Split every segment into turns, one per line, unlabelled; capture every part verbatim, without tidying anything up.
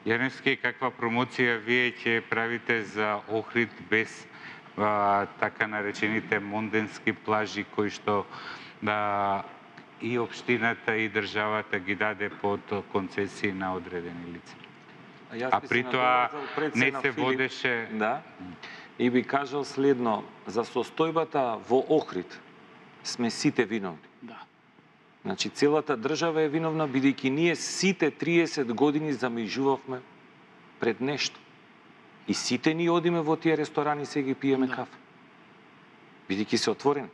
Јаневски, каква промоција вие ќе правите за Охрид без а, така наречените монденски плажи кои што да и општината и државата ги даде под концесии на одредени лица? А при тоа не се водеше...
Да. И би кажал следно, за состојбата во Охрид сме сите виновни.
Да.
Значи, целата држава е виновна, бидејќи ние сите триесет години замижувавме пред нешто. И сите ни одиме во тие ресторани, се ги пиеме
Да.
кафе. Бидејќи се отворени.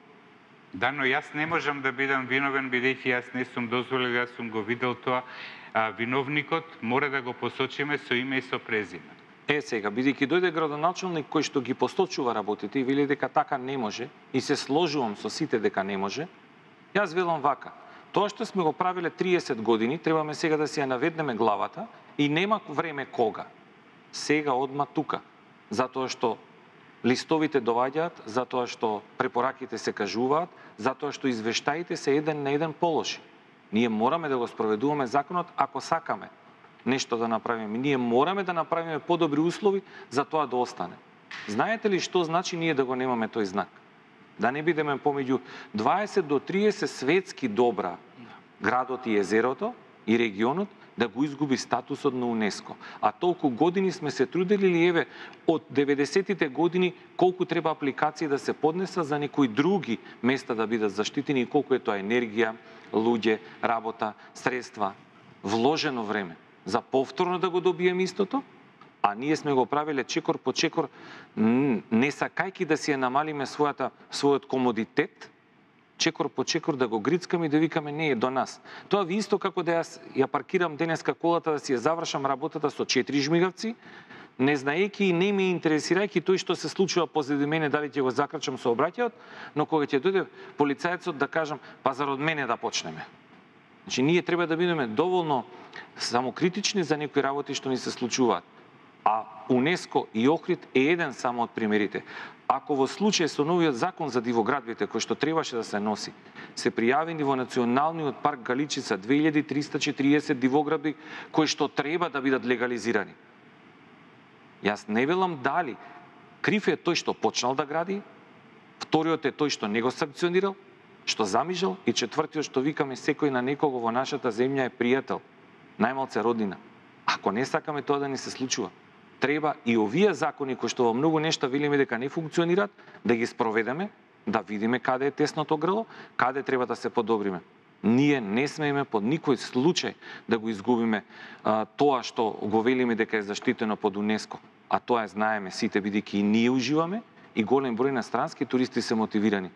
Да, но јас не можам да бидам виновен, бидејќи јас не сум дозволил, јас сум го видел тоа. А, виновникот мора да го посочиме со име и со презиме.
Е, сега, бидејќи дојде градоначалник кој што ги посочува работите и вели дека така не може, и се сложувам со сите дека не може, јас велам вака. Тоа што сме го правиле триесет години, требаме сега да си ја наведнеме главата и нема време кога. Сега, одма тука. Затоа што листовите доаѓаат, затоа што препораките се кажуваат, затоа што извештаите се еден на еден полоши. Ние мораме да го спроведуваме законот ако сакаме нешто да направиме. Ние мораме да направиме подобри услови за тоа да остане. Знаете ли што значи ние да го немаме тој знак? Да не бидеме помеѓу дваесет до триесет светски добра градот и езерото и регионот да го изгуби статусот на УНЕСКО. А толку години сме се трудели ли, еве, од деветдесетите години колку треба апликации да се поднеса за некои други места да бидат заштитени и колку е тоа енергија, луѓе, работа, средства, вложено време за повторно да го добиеме истото, а ние сме го правиле чекор по чекор, не сакајки да си ја намалиме својата, својот комодитет, чекор по чекор да го грицкаме и да викаме не е до нас. Тоа ви исто како да јас ја паркирам денеска колата да си ја завршам работата со четири жмигавци, не знаејќи и не ме интересирајќи тој што се случува позади мене, дали ќе го закрачам со обраќајот, но кога ќе дојде полицајецот да кажам, па зарад мене да почнеме. Значи, ние треба да бидеме доволно самокритични за некои работи што ни се случуваат. А УНЕСКО и Охрид е еден само од примерите. Ако во случај со новиот закон за дивоградбите, кој што требаше да се носи, се пријавени во Националниот парк Галичица две илјади триста и четириесет дивоградби кои што треба да бидат легализирани. Јас не велам дали крив е тој што почнал да гради, вториот е тој што не го санкционирал, што замижал, и четвртиот што викаме секој на некого во нашата земја е пријател, најмалце роднина. Ако не сакаме тоа да ни се случува, треба и овие закони кои што во многу нешта велиме дека не функционираат, да ги спроведеме, да видиме каде е тесното грло, каде треба да се подобриме. Ние не смееме под никој случај да го изгубиме а, тоа што го велиме дека е заштитено под УНЕСКО, а тоа е знаеме сите, бидејќи и ние уживаме и голем број на странски туристи се мотивирани.